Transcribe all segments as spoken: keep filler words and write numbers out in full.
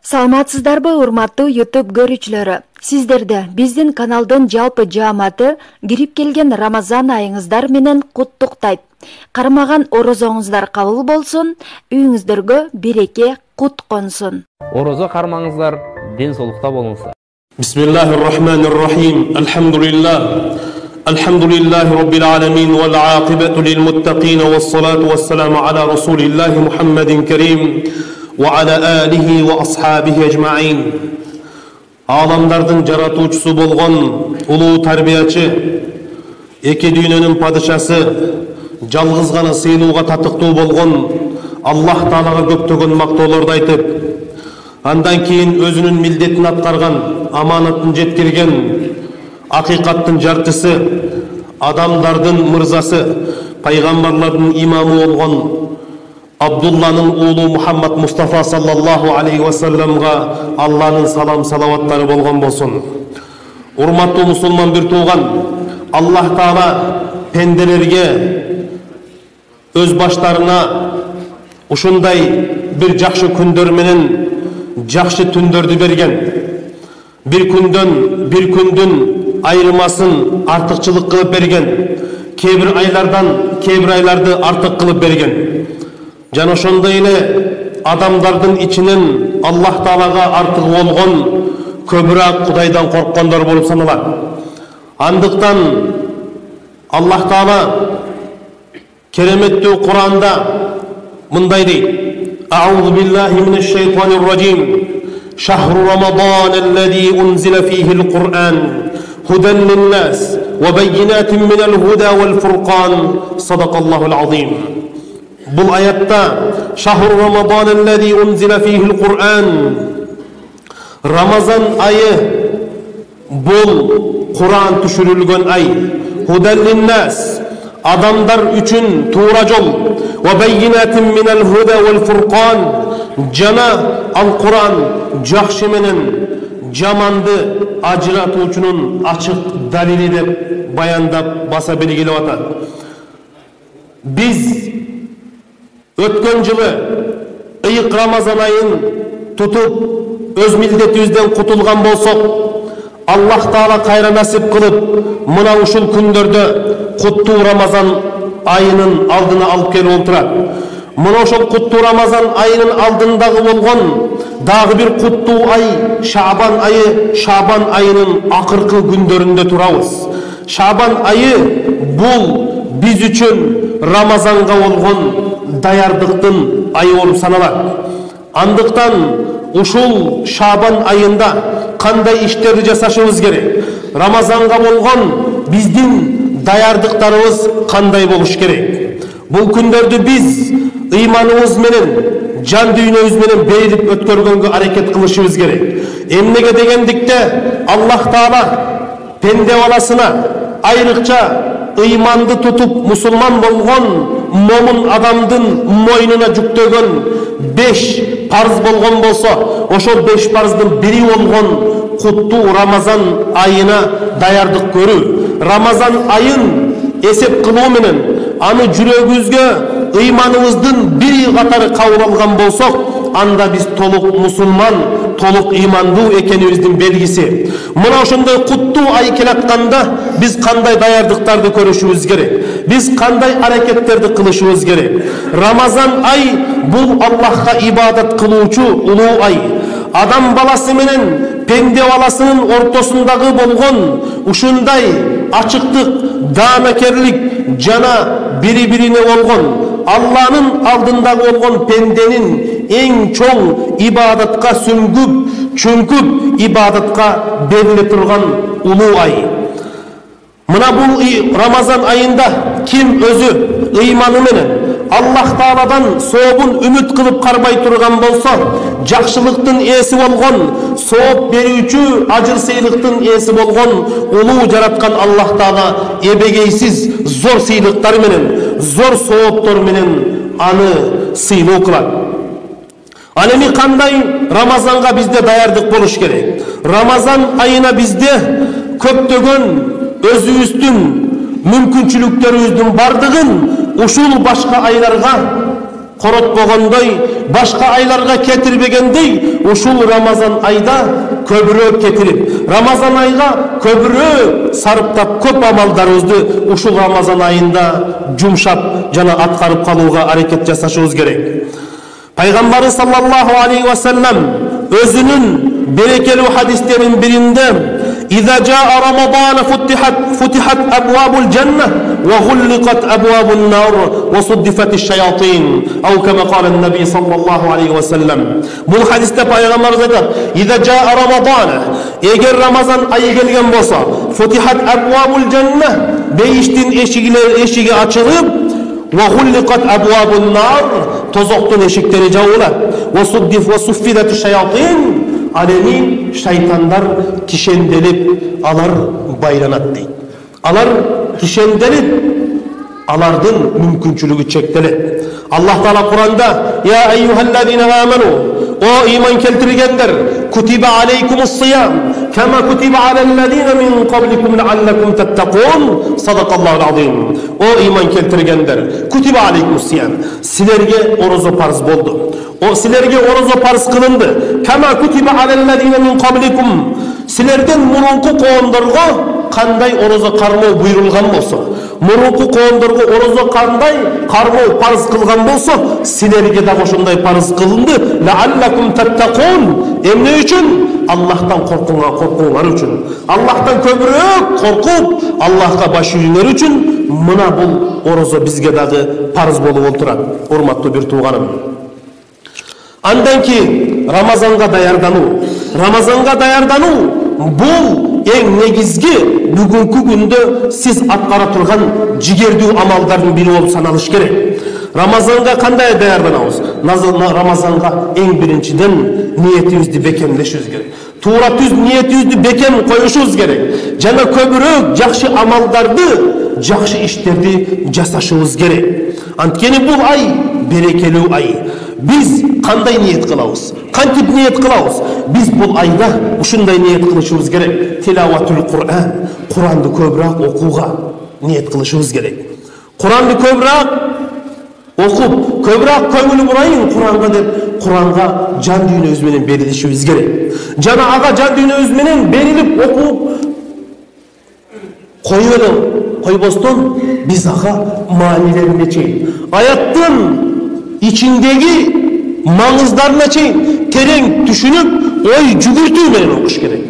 Саламатсыздарбы, урматтуу YouTube көрүүчүлөрү? Сиздерди биздин каналдын жалпы жааматы кирип келген Рамазан айыңыздар менен куттуктайт. Кармаган орозоңуздар кабыл болсун, үйүңүздөргө береке, кут консун. Орозо кармаңыздар, ден соолукта болуңуздар. Бисмиллахир-рахманир-рахим. Алхамдулиллах. Алхамдулиллахи rabbil alamin wal aqibatu lil muttaqin was salatu was salamu ala rasulillahi Muhammadin karim wa ala alihi wa ashabihi ajma'in. Аламдардын жаратуучусу болгон улуу тарбиячы, эки дүйнөнүн падышасы, жалгыз гана сыйлууга татыктуу болгон Аллах Таалага көптөгөн мактоолорду айтып, андан кийин өзүнүн милдетин аткарган, аманатын жеткирген, акыйкаттын жарчысы, адамдардын мырзасы, пайгамбарлардын имамы болгон Абдулланын уулу Мухаммад Мустафа саллаллаху алейхи ва салламга Алланын салам салаваттары болгон болсун. Урматтуу мусулман бир тууган, Аллах Таала пенделерге өз баштарына ушундай бир жакшы күндөр менен жакшы түндөрдү берген. Бир күндөн бир күндүн айырмасын артыкчылык кылып берген. Кээ бир айлардан кээ бир айларды артык кылып берген. Жана ошондой эле адамдардын ичинен Аллах Таалага артык болгон көбүрөөк Кудайдан корккондор болуп саналат. Андыктан Аллах Таала кереметтүү Кур'анда мындай дейт: Аузу биллахи минеш шайтанир ражим. Шахру рамадан аллази унзила фихи ал-Кур'ан худан лин-нас ва баййинатин минал худа вал фуркан. Садакаллахул азим. Бұл аятта шахру рамадан аллази унзила фихи ал-Кур'ан, Рамазан айы бұл Кур'ан түшүрүлгөн ай. Худан лин-нас, адамдар үчүн туура жол. Ва баййинатин минал худа вал фуркан, жана ал-Кур'ан жакшы менен жаманды ажыратуучунун ачык далили деп баяндап баса белгилеп атат. Биз өткөн жылы ыйык Рамазан айын тутуп өз милдетибизден кутулган болсок, Аллах Таала кайра насип кылып, мына ушул күндөрдө куттуу Рамазан айынын алдына алып келип олтурат. Мына ошол куттуу Рамазан айынын алдындагы болгон дагы бир куттуу ай Шабан айы, Шабан айынын акыркы күндөрүндө турабыз. Шабан айы бул биз үчүн Рамазанга болгон даярдыктын айы болуп саналат. Андыктан ушул Шабан айында кандай иштерди жасашыбыз керек? Рамазанга болгон биздин даярдыктарыбыз кандай болуш керек? Бул күндөрдү биз ыйманыбыз менен, жан дүйнөбүз менен берилип өткөргөнгө аракет кылышыбыз керек. Эмнеге дегендикте Аллах Таала пенде баласына айрыкча ыйманды тутуп мусулман болгон момун адамдын мойнуна жүктөгөн беш парыз болгон болсо, ошол беш парыздын бири болгон куттуу Рамазан айына даярдык көрүү. Рамазан айын эсеп кылуу менен аны жүрөгүбүзгө ыйманыбыздын бири катары кабыл алган болсок, анда биз толук мусулман, толук ыймандуу экенибиздин белгиси. Мына ошондой куттуу ай келатканда биз кандай даярдыктарды көрүшүбүз керек? Биз кандай аракеттерди кылышыбыз керек? Рамазан ай бул Аллахка ибадат кылуучу улуу ай. Адам баласы менен пенде баласынын ортосундагы болгон ушундай ачыктык, даанакерлик жана бири-бирине болгон Алланын алдындагы болгон пенденин эң чоң ибадатка сүңгүп, чүңкүп ибадатка бериле турган улуу ай. Мына бул Рамазан айында ким өзү ыйманы менен Аллах Тааладан сообун үмүт кылып карбай турган болсо, жакшылыктын ээси болгон, сооп берүүчү, ажыр сыйлыктын ээси болгон улуу жараткан Аллах Таала эбегейсиз зор сыйлыктар менен, зор сооптор менен аны сыйлоо кылат. Ал эми кандай Рамазанга бизде даярдык болуш керек? Рамазан айына бизде көптөгөн өзүбүздүн мүмкүнчүлүктөрүбүздүн бардыгын ушул башка айларга коротпогондой, башка айларга кетирбегендей, ушул Рамазан айда көбүрөөк кетирип, Рамазан айга көбүрөөк сарптап, көп амалдарыбызды ушул Рамазан айында жумшап жана аткарып калууга аракет жасашыбыз керек. Пайгамбарыбыз саллаллаху алейхи ва саллям өзүнүн берекелүү хадистеринин биринде إذا جاء رمضان فتحت فتحت أبواب الجنة وغلقت أبواب النار وصدفت الشياطين أو كما قال النبي صلى الله عليه وسلم. Bu hadiste Peygamberimiz aytadi: إذا جاء رمضان, eğer Ramazan ayı gelgen bolsa, فتحت أبواب الجنة, beyiştin eşigileri eşigi açılıp, وغلقت أبواب النار, tozoktun eşikleri jabılат, وصدف وصفدت الشياطين, alemi şeytanlar kişendelip alar baylanat deydi. Alar kişendelip alardın mümkünçülüğü çektiler. Allah Teala Kur'an'da ya eyyühellezine amenu, o iman keltirgenler, kutibe aleykumus siyam kema kutibe alellezine min qablikum leallekum tettekun. Sadakallahul azim. O iman keltirgenler, kutibe aleykumus siyam, silerge orozo farz boldu. O silerge orozo farz kılındı. Kema kutibe alellezine min qablikum, silerden murunku qoğunlarga kanday orozo karmao buyurulgan bolsa, murunku qoğunlarga orozo kanday karmao farz kılgan bolsa, silerge de oşunday farz kılındı. Leallekum tettekun. Emne üçün? Allah'tan korkunlar, korkunlar üçün. Allah'tan köbürük korkup Allah'a baş yürünger üçün mına bul orozo bizge dağı farz bolup olturat. Hormatlı bir tuğanım. Andan ki Ramazan'a dayardanuu, Ramazan'a dayardanuu bu en negizgi bugünkü günde siz atkara turgan jigerdүү amaldардын biri olup sanalış gerek. Ramazan'a kanday dayardanabыз? Ramazan'a en birinciden niyetibizdi bekemleşiz gerek. Tuğra tüz niyetibizdi bekem koyuşuz gerek. Jana köbürөөк жакшы amaldарды, жакшы иштерди жасашыбыз gerek. Antkeni bu ay berekелүү ay. Biz kanday niyet kılabız? Kantip niyet kılabız? Biz bu ayda uşunday niyet kılışыбыз gerek. Tilavatül Kur'an, Kur'an'dı köbürak okuğa niyet kılışыбыз gerek. Kur'an'dı köbürak okup, köbürak köngülü burayın Kur'an'a dep, Kur'an'a can düğünü menen berilişimiz gerek. Jana aga can düğünü menen berilip okup koyuyorum, koyboston biz aga manilerine çeyin. Ayattın içindeki mağızlarına çeyin tereң düşünüp oy жүгүртүү менен okuş gerek.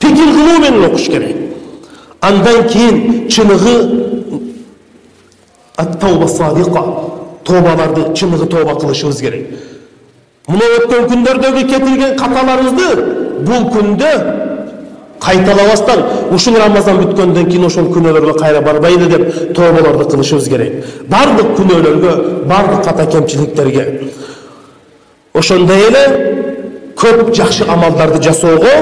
Pikir kılуу menен okuş gerek. Andan keyin çınıgı at-tawba sadiqa, tobalardı, çınıgı toba kılışыбыз gerek. Muna ötken künderdögü ketilgen katalarыбызды bu күндө кайталабастан ушул Рамазан бүткөндөн кийин ошол күнөөлөргө кайра барбайды деп тобаларды кылышыбыз керек. Бардык күнөөлөргө, бардык ката кемчиликтерге. Ошондой эле көп жакшы амалдарды жасоого,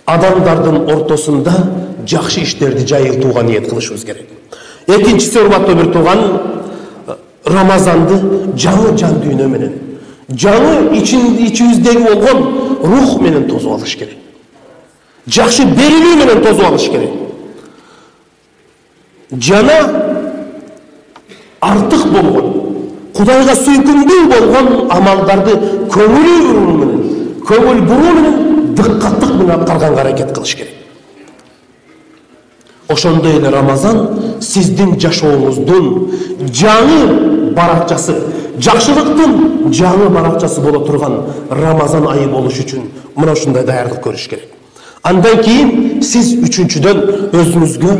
адамдардын ортосунда жакшы иштерди жайылтууга ниет кылышыбыз керек. Экинчиси, урматтуу бир тууган, Рамазанды жаңы жан дүйнө менен, жаңы ичибиздеги болгон рух менен тосуп алыш керек. Жакшы берилүү менен тосуп алыш керек. Жана артык болгон, Кудайга сүйкүмдүү болгон амалдарды көңүл буруу менен, көңүл буруу менен дыккаттык менен аткарганга аракет кылыш керек. Ошондой эле Рамазан сиздин жашооңуздун жаңы баракчасы, жакшылыктын жаңы баракчасы боло турган Рамазан айы болуш үчүн мына ушундай даярдык көрүш керек. Андан кийин сиз үчүнчүдөн өзүңүзгө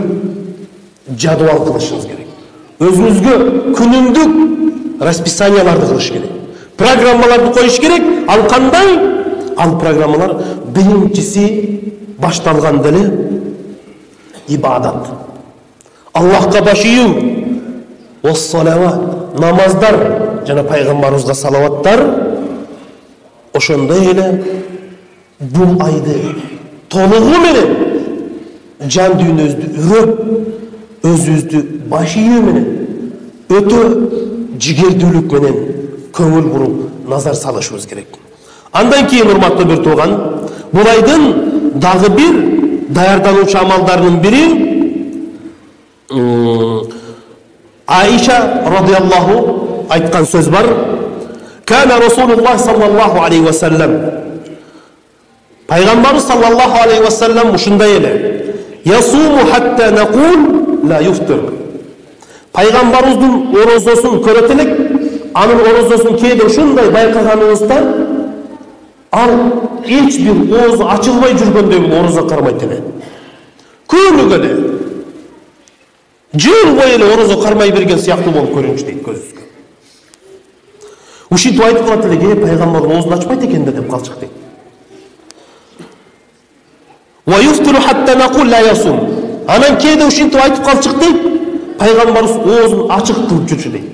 жадыбал кылышыңыз керек. Өзүңүзгө күнүмдүк расписанияларды кылыш керек. Программаларды коюш керек. Ал кандай? Ал программалар биринчиси башталганда эле ибадат. Аллахка баш ийүү, ос-салават, намаздар жана пайгамбарыбызга салаваттар. Ошондой эле бул айды толугу менен жан дүйнөбүздү үрөп, өзүбүздү баш ийүү менен, өтө жигердүүлүк менен көңүл буруп, назар салышыбыз керек. Андан кийин, урматтуу бир тууган, бул айдын дагы бир даярдануучу амалдарынын бири Аиша радиаллаху айткан сөз бар. Кана Расулуллах саллаллаху алейхи ва саллам. Пайгамбар саллаллаху алейхи ва саллам ушундай эле. Ясуму хатта нақул ла юфтир. Пайгамбарыбыздын орозосун көрөт элек, анын орозосун кээде ушундай байкаганыбызда ал эч бир оозу ачылбай жүргөндөй бул орозо кармайт эле. Күнүгө эле жыл бою эле орозо кармай берген сыяктуу болуп көрүнчү дейт көзүбүзгө. Ушинтип айтып калат эле, "Ке, пайгамбар оозун ачпайт экен да" деп калчык дейт. Ва юфтиру хатта нақул ла ясум. Анан кээде ушинтип айтып калчык дейт, пайгамбарыбыз оозун ачык кылып жүрчү дейт.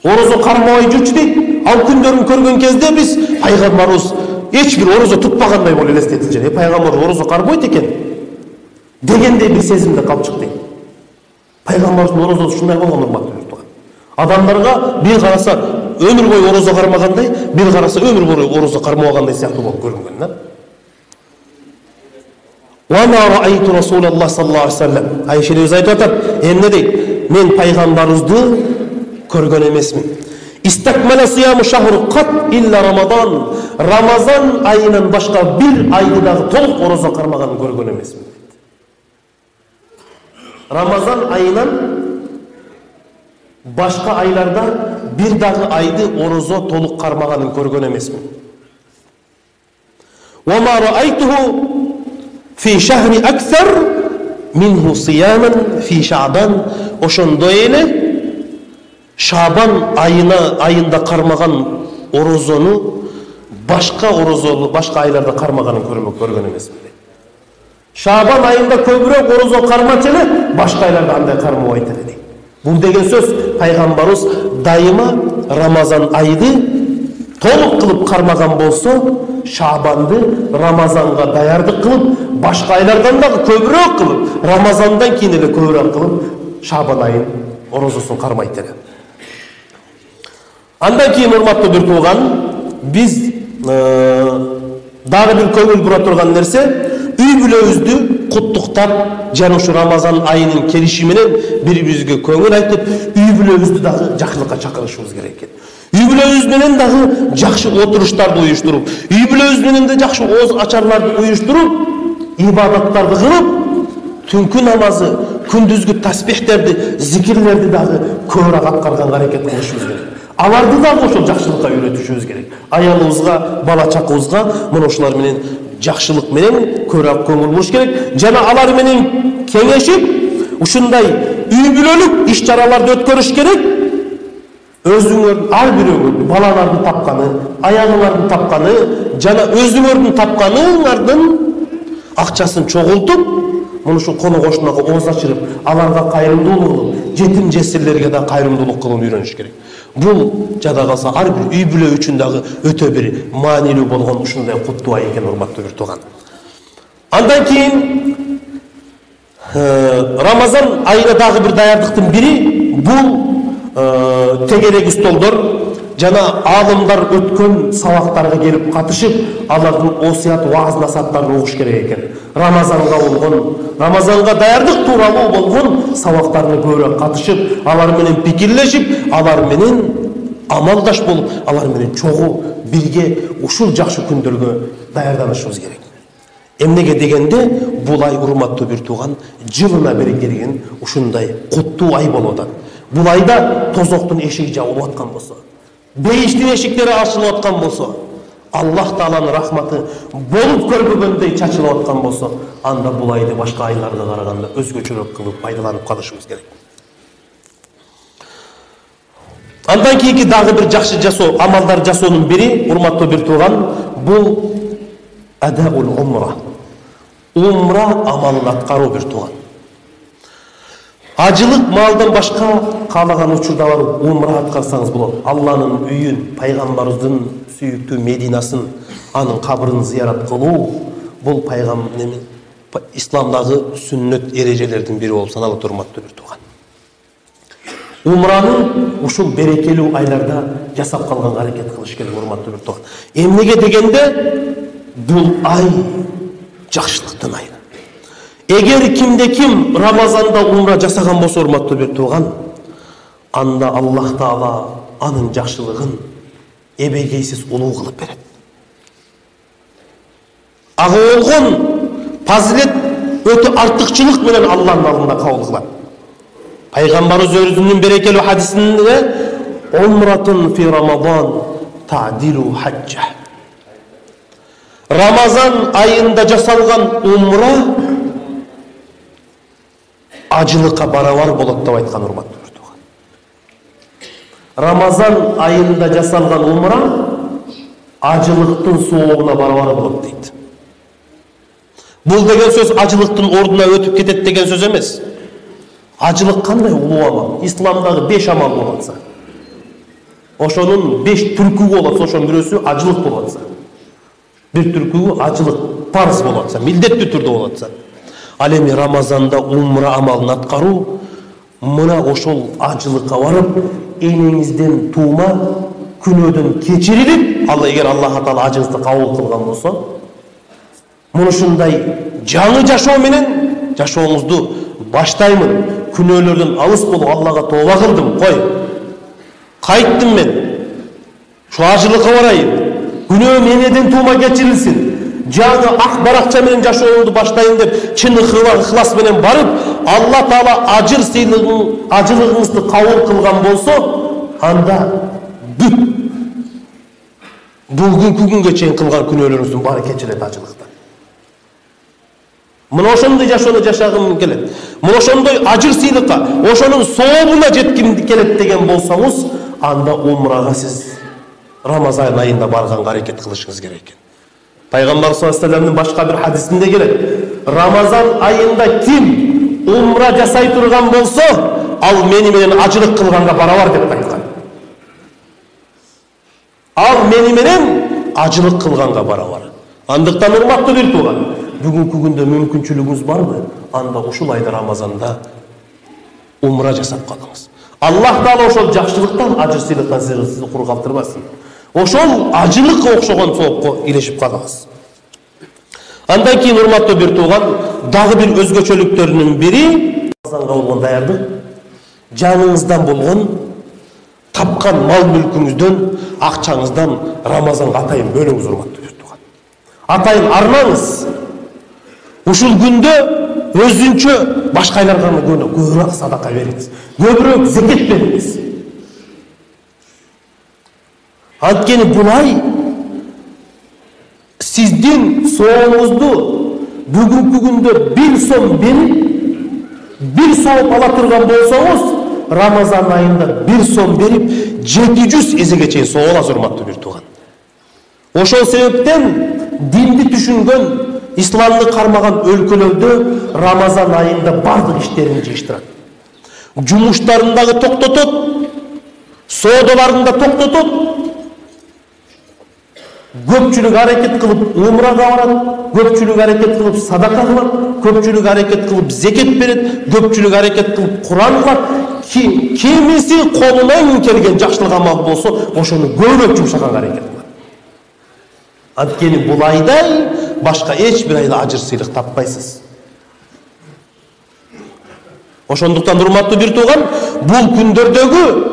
Орозо кармабай жүрчү дейт. Ал күндөрүн көргөн кезде биз пайгамбарыбыз эч бир орозо тутпагандай болуп элестетилчү. Э, пайгамбар орозо карбойт экен дегендей бир сезимде калчык дейт. Пайгамбарыбыздын орозосу ушундай болгон, урматтуу туган. Адамдарга бир караса өмүр бою орозо кармагандай, бир караса өмүр бою орозо кармабагандай сыяктуу болуп көрүнгөн да. Ва ма раайту Расулаллах саллаллаху алейхи ва саллам. Айшелебиз айтып атат, эмне дейт? Мен пайгамбарыбызды көргөн эмесмин. Истакмала сияму шахру кат илля Рамадан. Рамазан айынан башка бир айды дагы толук орозо кармаганын көргөн эмесмин. Рамазан айынан башка айларда бир дагы айды орозо толук кармаганын көргөн эмесмин. Ва ма раайтуху фи шахри аксар минху сияман фи Шаъбан. Ошондой эле Шабан айына айында кармаган орозону башка орозолу башка айларда кармаганын көргөн эмесмин. Шабан айында көбүрөөк орозо кармачу эле, башка айларда андай кармабайт эле дейт. Бул деген сөз пайгамбарыбыз дайыма Рамазан айды толук кылып кармаган болсо, Шабанды Рамазанга даярдык кылып, башка айлардан дагы көбүрөөк кылып, Рамазандан кийин эле көбүрөөк кылып, Шабан айын орозосун кармайт эле. Андан кийин, урматтуу бир тууган, биз дагы бир көңүл бура турган нерсе, үй бүлөбүздү куттуктап, жана ушу Рамазан айынын келиши менен бири-бирибизге көңүл айтып, үй бүлөбүздү дагы жакшылыкка чакырышыбыз керек экен. Үй бүлөбүз менен дагы жакшы отуруштарды уюштуруп, үй бүлөбүз менен да жакшы ооз ачарларды уюштуруп, ибадаттарды кылып, түнкү намазы, күндүзгү таспихтерди, зикирлерди дагы көбүрөөк аткарганга аракет кылышыбыз керек. Аларды дагы ошол жакшылыкка үйрөтүшүбүз керек. Аялыбызга, бала чакыбызга мына ошолар менен жакшылык менен көбүрөөк көңүл буруш керек. Жана алар менен кеңешип, ушундай үй бүлөлүк иш-чараларды өткөрүш керек. Өзүңөр ар бирөөңөр балалардын тапканы, аялыңардын тапканы, жана өзүңөрдүн тапканыңардын акчасын чогултуп, муну ушул коно кошунага ооз ачырып, аларга кайрымдуулук кылып, жетим жесирлерге да кайрымдуулук кылууну үйрөнүш керек. Бул жада калса ар бир үй бүлө үчүн дагы өтө бир маанилүү болгон ушундай куттуу ай экен, урматтуу бир тууган. Андан кийин Рамазан айына дагы бир даярдыктын бири бул тегерек столдор жана аалымдар өткөн сабактарга келип катышып, алардын осуят, вааз насааттарын угуш керек экен. Рамазанга болгон, Рамазанга даярдык тууралуу болгон сабактарына көбүрөөк катышып, алар менен пикирлешип, алар менен амалдаш болуп, алар менен чогуу бирге ушул жакшы күндөргө даярданышыбыз керек. Эмнеге дегенде, бул ай, урматтуу бир тууган, жылына бери келген ушундай куттуу ай болуп атат. Бул айда тозоктун эшиги жабылып аткан болсо, бейиштин эшиктери ачылып аткан болсо, Аллах Тааланын рахматы болуп көрбөгөндөй чачылып аткан болсо, анда бул айды башка айларга караганда өзгөчөрөөк кылып пайдаланып калышыбыз керек. Андан кийинки дагы бир жакшы жасоо, амалдар жасоонун бири, урматтуу бир тууган, бул адаул умра. Умра амалын аткаруу бир тууган. Ажылык малдан башка каалаган учурда барып умра аткарсаңыз болот. Алланын үйүн, пайгамбарыбыздын сүйүктүү Мединасын, анын кабрын зыярат кылуу бул пайгамбардын исламдагы сүннөт эрежелердин бири болуп саналат, урматтуу бир тууган. Умраны ушул берекелүү айларда жасап калганга аракет кылыш керек, урматтуу бир тууган. Эмнеге дегенде, бул ай жакшылыктын айы. Эгер кимде ким Рамазанда умра жасаган болсо, урматтуу бир тууган, анда Аллах Таала анын жакшылыгын эбегейсиз улуу кылып берет. Ага болгон фазилет өтө артыкчылык менен Аллахтын алдында кабыл кылат. Пайгамбарыбыз өзүнүн берекелүү хадисинде умратун фи рамазан та'дилу хаджа. Рамазан айында жасалган умра ажылыкка барабар болот деп айткан урматтуу көрдүк. Рамазан айында жасалган умра ажылыктын соогуна барабар болот дейт. Бул деген сөз ажылыктын ордуна өтүп кетет деген сөз эмес. Ажылык кандай улуу амал? Исламдагы беш амал болотса, ошонун беш түркүгү болотса, ошонун бирөөсү ажылык болотса, бир түркүгү ажылык парыз болотса, милдеттүү түрдө болотса, ал эми Рамазанда умра амалын аткаруу мына ошол ажылыкка барып, энеңизден туума күнөөдөн кечирилип, Алла эгер Аллах Таала ажыңызды кабыл кылган болсо, мынушундай жаңы жашоо менен жашооңузду баштаймын. Күнөөлөрдөн алыс болуп Аллага тооба кылдым. Кой. Кайттым мен. Шу ажылыкка барайын. Күнөөм энеден туума кечирилсин. Жаңы ак баракча менен жашоомду баштайын деп чын ыхлас менен барып, Алла Таала ажыр сыйлыгын, ажылыгыңызды кабыл кылган болсо, анда бүт бүгүнкү күнгө чейин кылган күнөөлөрүңүздүн баары кечирилет ажылыкта. Мына ошондой жашоону жашагым келет. Мына ошондой ажыр сыйлыкка, ошонун сообуна жетким келет деген болсоңуз, анда умрага сиз Рамазан айында барганга аракет кылышыңыз керек экен. Пайгамбар саллаллаху алейхи вассаламдын башка бир хадисинде келет. Рамазан айында ким умра жасай турган болсо, ал мени менен ажылык кылганга барабар деп айткан. Ал мени менен ажылык кылганга барабар. Андыктан урматтуу бир тууган, бүгүнкү күндө мүмкүнчүлүгүңүз барбы? Анда ушул айда Рамазанда умра жасап калыңыз. Аллах Таала ошол жакшылыктан, ажыр сыйлыктан сизди кур калтырбасын. Ошол ажылыкка окшогон соопко илешип калыңыз. Андан кийин урматтуу бир тууган, дагы бир өзгөчөлүктөрүнүн бири Рамазанга болгон даярдык, жаныңыздан болгон тапкан мал мүлкүңүздөн, акчаңыздан Рамазанга атайын бөлүңүз урматтуу бир тууган. Атайын арнаңыз. Ушул күндө өзүнчө башкайларга гана көбүрөөк садака бериңиз, көбүрөөк зекет бериңиз. Анткени бул ай сиздин сооңузду бүгүнкү күндө бир сом берип, бир сооп ала турган болсоңуз, Рамазан айында бир сом берип, жети жүз эзеге чейин соо аласыз, урматтуу бир тууган. Ошол себептен динди түшүнгөн, исламды кармаган өлкөлөрдө Рамазан айында бардык иштерин жыйыштырат. Жумуштарын дагы токтотот, соодаларын да токтотот. Көпчүлүк аракет кылып умрага барат, көпчүлүк аракет кылып садака кылат, көпчүлүк аракет кылып зекет берет, көпчүлүк аракет кылып Куран окуат. Кимиси колунан келген жакшылык амал болсо, ошону көбүрөөк жумшаганга аракет кылат. Анткени бул айдай башка эч бир айда ажыр сыйлык таппайсыз. Ошондуктан урматтуу бир тууган, бул күндөрдөгү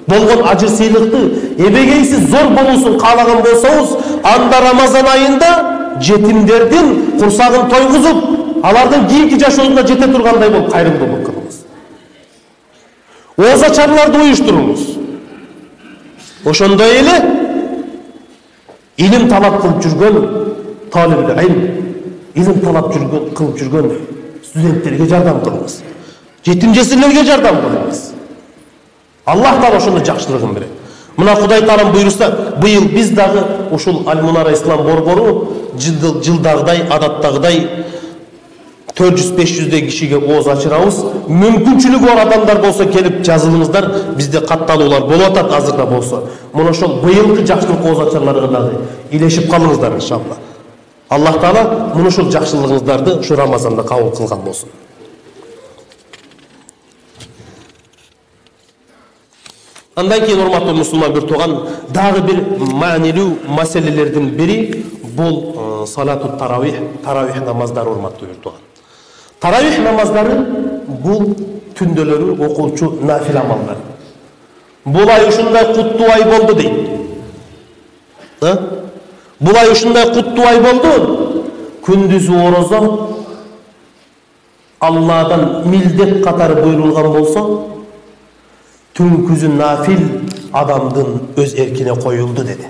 болгон ажыр сыйлыкты эбегейсиз зор болуусун каалаган болсоңуз, анда Рамазан айында жетимдердин курсагын тойгузуп, алардын кийинки жашоосуна жете тургандай болуп кайрымдуулук кылыңыз. Оозачарларды уюштуруңуз. Ошондой эле илим талап кылып жүргөн талиптер, илим талап жүргөн кылып жүргөн студенттерге жардам кылыңыз. Жетим жесирлерге жардам кылыңыз. Аллах Таала ошондой жакшылыгын берет. Мына Кудай Таалам буйруса, быйыл биз дагы ушул Аль-Мунара ислам борбору жылдагыдай, адаттагыдай төрт жүз беш жүздөй кишиге ооз ачырабыз. Мүмкүнчүлүгү бар адамдар болсо келип жазылыңыздар. Бизде катталуулар болуп атат азырда болсо. Мына ошол быйылкы жакшылык ооз ачарларга дагы илешип калыңыздар иншалла. Аллах Таала мына ушул жакшылыгыңыздарды ушу Рамазанда кабыл кылган болсун. Андан кийин урматтуу мусулман бир тууган, дагы бир маанилүү маселелердин бири бул салату таравих, таравих намаздары урматтуу бир тууган. Таравих намаздары бул түндөлөрү окуучу нафил амалдар. бул ай ушундай куттуу ай болду дейт. Бул ай ушундай куттуу ай болду. Күндүзү орозо Алладан милдет катары буйрулган болсо, түнкүзү нафил адамдын өз эркине коюлду деди.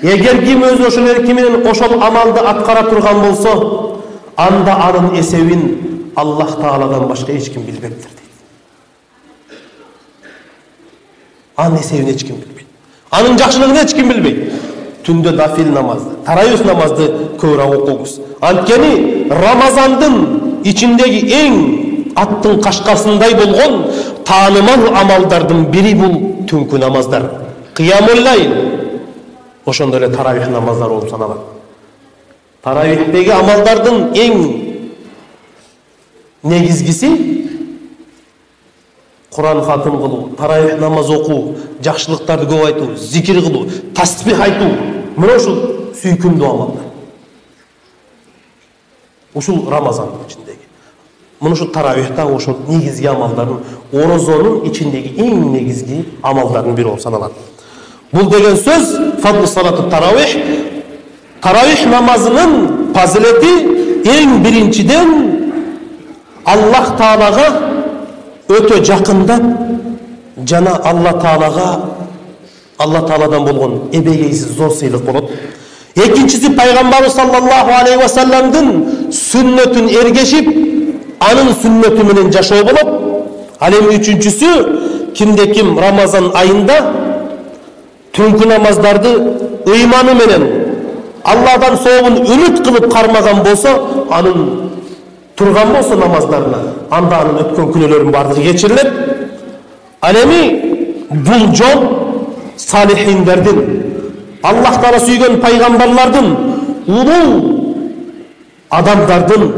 Эгер ким өз ошол эрки менен ошол амалды аткара турган болсо, анда анын эсебин Аллах Тааладан башка эч ким билбептир дейт. Анын эсебин эч ким билбейт. Анын жакшылыгын эч ким билбейт. Түндө нафил намазды, тарайыз намазды көбүрөөк окуңуз. Анткени Рамазандын ичиндеги эң аттын кашкасындай болгон таанымал амалдардын бири бул түнкү намаздар. Кыямул лайл. Ошондой эле таравих намаздары болуп саналат. Таравихтеги амалдардын эң негизгиси Куран хатым кылуу, таравих намаз окуу, жакшылыктарды көп айтуу, зикир кылуу, тасбих айтуу. Мына ушул сүйкүмдүү амалдар. Ушул Рамазандын ичиндеги. Мына ушул таравихта ошол негизги амалдардын, орозонун ичиндеги эң негизги амалдардын бири болуп саналат. Бул деген сөз фадлу салату таравих. Таравих намазынын фазилети эң биринчиден Аллах Таалага өтө жакындап жана Алла Таалага Алла Тааладан болгон эбегейсиз зор сыйлык болот. Экинчиси пайгамбарыбыз саллаллаху алейхи ва салламдын сүннөтүн эргешип, анын сүннөтү менен жашоо болот. Ал эми үчүнчүсү кимде ким Рамазан айында түнкү намаздарды ыйманы менен Алладан сообун үмүт кылып кармаган болсо, анын турган болсо намаздарына, анда анын өткөн күнөөлөрүнүн баардыгы кечирилет. Ал эми бул жол салихиндердин, Аллах Таала сүйгөн пайгамбарлардын, улуу адамдардын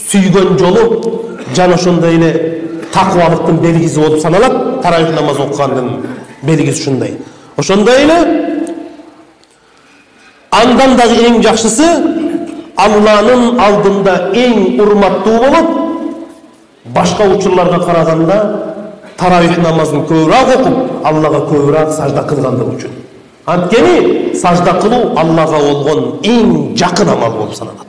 сүйгөн жолу жана ошондой эле такыбалыктын белгиси болуп саналат. Таравих намаз окугандын белгиси ушундай. Ошондой эле андан дагы эң жакшысы Алланын алдында эң урматтуу болот. Башка учурларга караганда таравих намазын көбүрөөк окуп, Аллага көбүрөөк сажда кылгандыгы үчүн. Анткени сажда кылуу Аллага болгон эң жакын амал болуп саналат.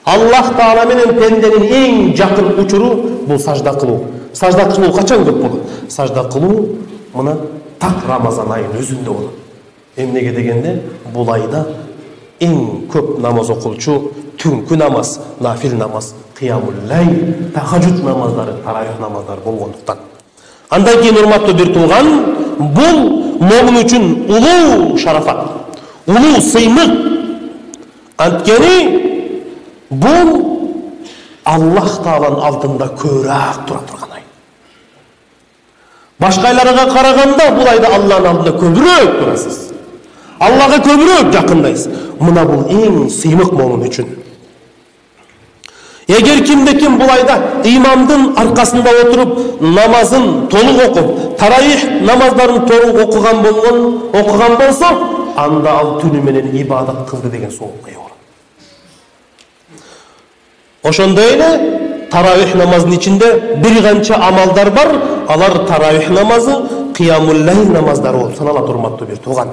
Аллах Таала менен пенденин эң жакын учуру бул сажда кылуу. Сажда кылуу качан көп болот? Сажда кылуу мына так Рамазан айынын өзүндө болот. Эмнеге дегенде, бул айда эң көп намаз окулчу түнкү намаз, нафил намаз, кыямул лайл, тахажжуд намаздары, таравих намаздары болгондуктан. Андан кийин урматтуу бир тууган, бул момун үчүн улуу шарафат, улуу сыймык. Анткени бул Аллах Тааланын алдында көбүрөөк тура турган ай. Башка айларга караганда бул айда Алланын алдында көбүрөөк турасыз. Аллага көбүрөөк жакындайсыз. Мына бул эң сыймык момун үчүн. Эгер кимде ким бул айда имамдын аркасында отуруп намазын толук окуп, таравих намаздарын толук окуган болгон, окуган болсо, анда ал түнү менен ибадат кылды деген соопка ээ болот. Ошондой эле таравих намазынын ичинде бир канча амалдар бар. Алар таравих намазы, кыямул лайл намаздары болуп саналат, урматтуу бир тууган.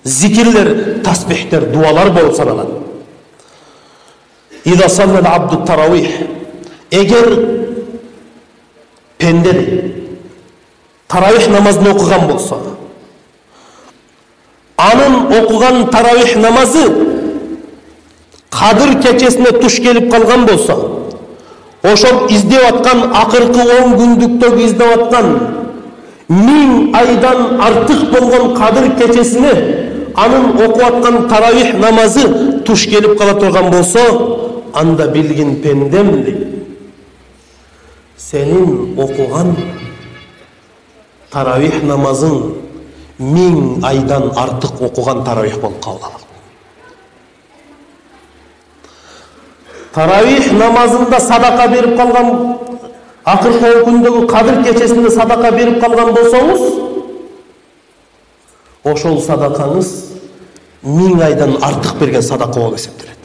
Зикирлер, тасбихтер, дуалар болуп саналат. Ида саллал абду таравих. Эгер пенде таравих намазын окуган болсо, анын окуган таравих намазы Кадыр кечесине туш келип калган болсо, ошол издеп аткан акыркы он күндүктөгү издеп аткан миң айдан артык болгон Кадыр кечесине анын окуп аткан таравих намазы туш келип кала турган болсо, анда билгин пендем дейт, сенин окуган таравих намазың миң айдан артык окуган таравих болуп кабыл алынат. Таравих намазында садака берип калган, акыркы күндөгү Кадыр кечесинде садака берип калган болсоңуз, ошол садакаңыз миң айдан артык берген садака болуп эсептелет.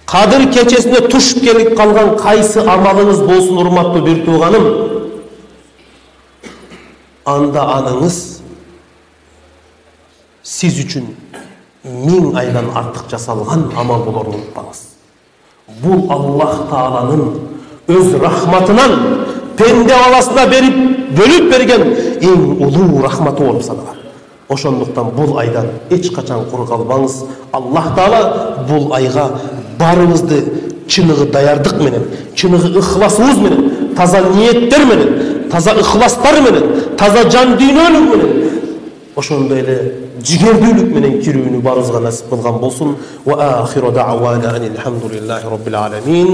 Кадыр кечесине туш келип калган кайсы амалыңыз болсун, урматтуу бир тууганым, анда аныңыз сиз үчүн миң айдан артык жасалган амал болорун унутпаңыз. Бул Аллах Тааланын өз рахматынан пенде баласына берип бөлүп берген эң улуу рахматы болуп саналат. Ошондуктан бул айдан эч качан кур калбаңыз. Аллах Таала бул айга барыбызды чыныгы даярдык менен, чыныгы ыхласыбыз менен, таза ниеттер менен, таза ыхластар менен, таза жан дүйнөлүк менен, ошондой эле жигердүүлүк менен кирүүнү барыбызга насип кылган болсун. Ва ахиру дa'wana алхамдулиллахи rabbil alamin.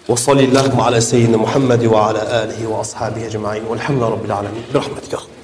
Wa sallallahu ala sayyidina Muhammad wa ala alihi wa ashabihi ajma'in. Walhamdulillahi rabbil alamin. Bi rahmatika.